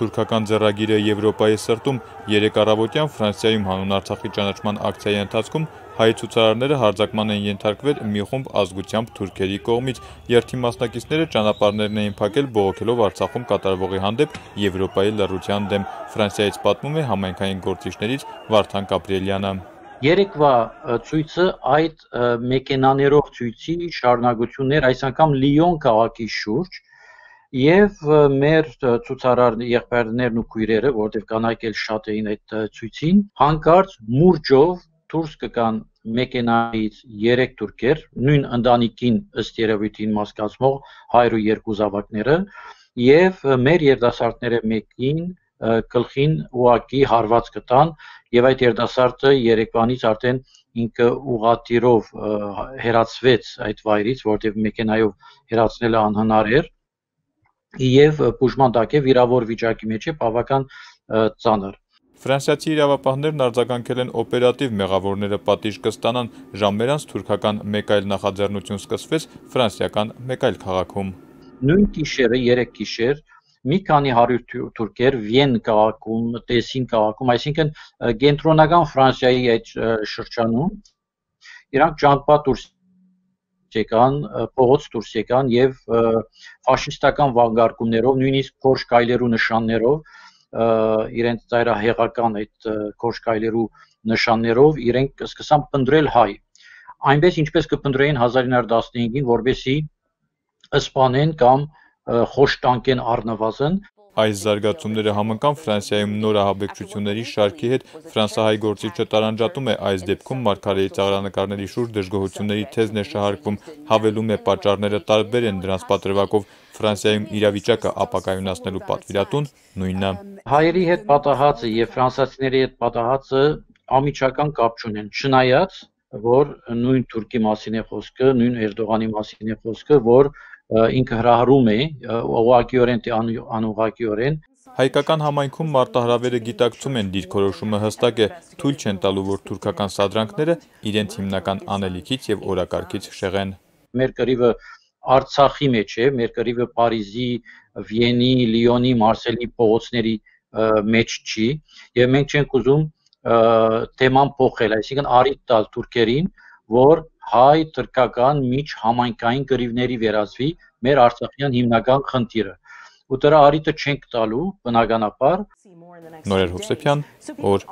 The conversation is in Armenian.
Ֆրանսիա-թուրքական ձեռագիրը Եվրոպայի սրտում 3 առավոտյան Ֆրանսիայում հանուն Արցախի ճանաչման ակցիայի ընթացքում հայ ցուցարարները հարձակման են ենթարկվել մի խումբ ազգությամբ թուրքերի կողմից։ Երթի մասնակիցները ճանապարհներն էին փակել բողոքելով Արցախում կատարվողի հանդեպ Եվրոպայի լռության դեմ։ Ֆրանսիայից պատմում է համայնքային գործիչներից Վարդան Կապրելյանը։ Երեկվա ցույցը այդ մեքենաներով ցույցի շարունակություններ, այս անգամ Լիոն քաղաքի շուրջ, եւ մեր ցուցարար եղբայրներն ու քույրերը, որտեղ կանայք էլ շատ էին այդ ցույցին, հանկարծ մուրճով դուրս կգան մեքենայից 3 թուրքեր, նույն ընտանիքին ըստ երևույթին մասկացնող հայր ու երկու զավակները, եւ մեր երիտասարդները մեկին գլխին ուղակի հարված կտան, եւ այդ երիտասարդը երեկվանից արդեն ինքը ուղղաթիռով հեռացվեց այդ վայրից, որտեղ մեքենայով հեռացնելը անհնար էր, եւ բուժման տակ է, վիրավոր վիճակի մեջ է, բավական ծանր։ Ֆրանսիացի իրավապահներն արձագանքել են օպերատիվ մեղավորները պատիժ կստանան։ Ժամեր անց թուրքական մեկ այլ նախաձեռնություն սկսվեց ֆրանսիական մեկ այլ քաղաքում։ Նույն գիշերը 3 գիշեր մի քանի 100 թուրքեր Վիեն քաղաքում, Տեսին քաղաքում, այսինքն կենտրոնական Ֆրանսիայի այդ շրջանում, իրանք ճամփա դուրս եկան, փողոց դուրս եկան եւ ֆաշիստական վանկարկումներով, նույնիսկ փոշ կայլերու նշաններով, իրենց ծայրահեղական այդ քոշկայլերու նշաններով իրենք սկսան փնտրել հայ։ Այնպես ինչպես կփնտրեին 1915-ին, որբեսի սպանեն կամ խոշտանկեն առնվազն։ Այս զարգացումները համընկան Ֆրանսիայում նոր ահաբեկչությունների շարքի հետ։ Ֆրանսահայ գործիչը տարանջատում է այս դեպքում մարգարեի ծաղրանկարների շուրջ դժգոհությունների թեզն է շահարկվում, հավելում է պատճառները տարբեր են դրանց պատրվակով։ Ֆրանսիայում իրավիճակը ապակայունացնելու պատվիրատուն նույնն է։ Հայերի հետ պատահածը եւ ֆրանսիացիների հետ պատահածը ամիջական կապ չունեն, չնայած որ նույն Թուրքի մասին է խոսքը, նույն Էրդողանի մասին է խոսքը, որ ինքը հրահրում է ուղղակիորեն թե անուղղակիորեն։ Հայկական համայնքում մարտահրավերը գիտակցում են, դիրքորոշումը հստակ է, թույլ չեն տալու, որ թուրքական սադրանքները իրենց հիմնական անելիքից եւ օրակարգից շեղեն։ Մեր կռիվը Արցախի մեջ է, մեր կռիվը Փարիզի, Վիենի, Լիոնի, Մարսելի փողոցների մեջ չի, եւ մենք չենք ուզում թեման փոխել, այսինքն առիթ տալ թուրքերին, որ հայ-թուրքական միջհամայնքային կռիվների վերածվի մեր արցախյան հիմնական խնդիրը։ Ու դրա առիթը չենք տալու, բնականաբար։ Նորեր Հովսեփյան, օր